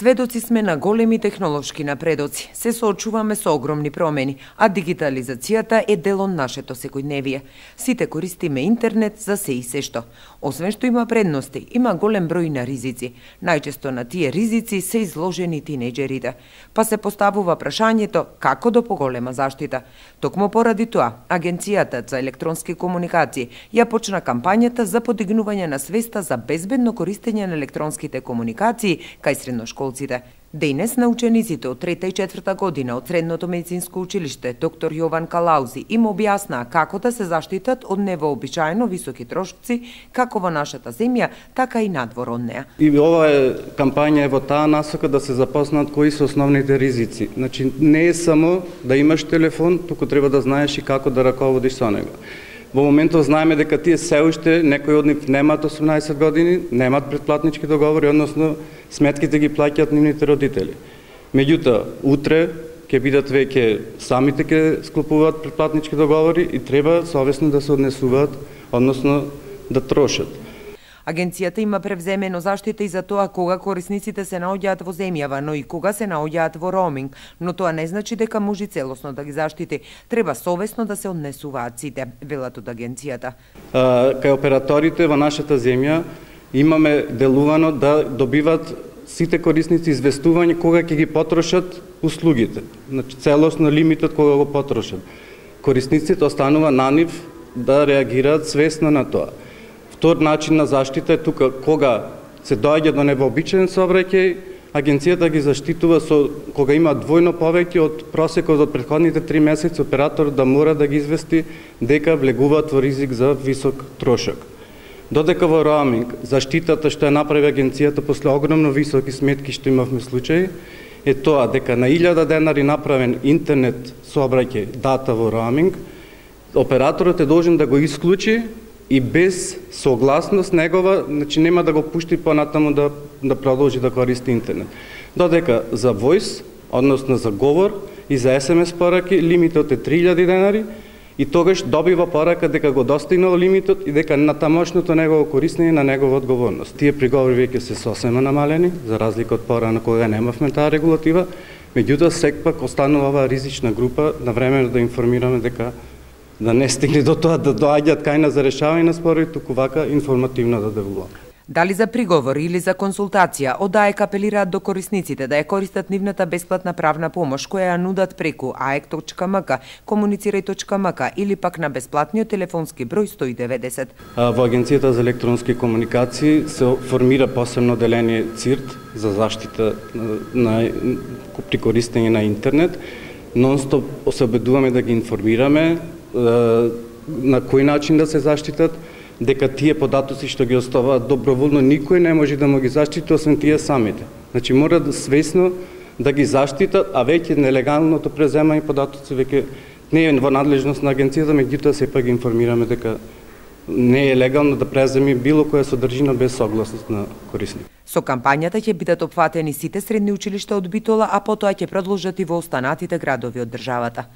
Сведоци сме на големи технолошки напредоци. Се соочуваме со огромни промени, а дигитализацијата е дел од нашето секојдневие. Сите користиме интернет за се и сешто. Освен што има предности, има голем број на ризици. Најчесто на тие ризици се изложени тинеџерите. Па се поставува прашањето како до поголема заштита. Токму поради тоа, Агенцијата за електронски комуникации ја почна кампањата за подигнување на свеста за безбедно користење на електронските комуникации кај средношколците. Денес на учениците од 3-та и 4-та година од Средното медицинско училиште доктор Јован Калаузи им објаснаа како да се заштитат од невообичаено високи трошоци како во нашата земја, така и надвор од неа. И ова кампања е во таа насока да се запознат кои се основните ризици. Значи не е само да имаш телефон, туку треба да знаеш и како да раководиш со него. Во моментот знаеме дека тие се уште некои од нив немаат 18 години, немаат претплатнички договори, односно сметките ги плаќаат нивните родители. Меѓутоа, утре ќе бидат веќе самите ќе склопуваат претплатнички договори и треба совесно да се однесуваат, односно да трошат. Агенцијата има превземено заштита и за тоа кога корисниците се наоѓаат во земјава, но и кога се наоѓаат во роуминг, но тоа не значи дека може целосно да ги заштити. Треба совесно да се однесуваат сите, велат од агенцијата. Кај операторите во нашата земја имаме делувано да добиват сите корисници известување кога ќе ги потрошат услугите. Значи целосно лимитот кога го потрошат. Корисниците останува на нив да реагираат свесно на тоа. Втор начин на заштита е тука кога се доаѓа до невообичаен сообраќај, агенцијата ги заштитува со кога има двојно повеќе од просекот од претходните 3 месеци, оператор да мора да ги извести дека влегуваат во ризик за висок трошок. Додека во роуминг заштитата што ја направи агенцијата после огромно високи сметки што имавме случаи е тоа дека на 1000 денари направен интернет сообраќај дата во роуминг, операторот е должен да го исклучи и без согласност негова, значи нема да го пушти понатаму да продолжи да користи интернет. Додека за voice, односно за говор и за SMS пораки, лимитот е 3000 денари и тогаш добива порака дека го достигнал лимитот и дека на тамошното негово користење на негова одговорност. Тие приговори веќе се сосема намалени, за разлика од порано кога немавме таа регулатива, меѓутоа секпак останува оваа ризична група на време да информираме дека да не стигне до тоа да доаѓаат кај нас за решавање на спорови, туку вака информативно да девуваме. Дали за приговор или за консултација, од АЕК апелираат до корисниците да ја користат нивната бесплатна правна помош која ја нудат преку aek.mk, komuniciraј.mk или пак на бесплатниот телефонски број 190. Во Агенцијата за електронски комуникации се формира посебно деление ЦИРТ за заштита при користење на интернет. Нонстоп се обидуваме да ги информираме на кој начин да се заштитат, дека тие податоци што ги оставаат доброволно никој не може да му ги заштити освен тие самите. Значи мора да свесно да ги заштитат, а веќе нелегалното преземање податоци веќе не е во надлежност на агенцијата, меѓутоа сепак ги информираме дека не е легално да преземи било која содржина без согласност на корисник. Со кампањата ќе бидат опфатени сите средни училишта од Битола, а потоа ќе продолжат и во останатите градови од државата.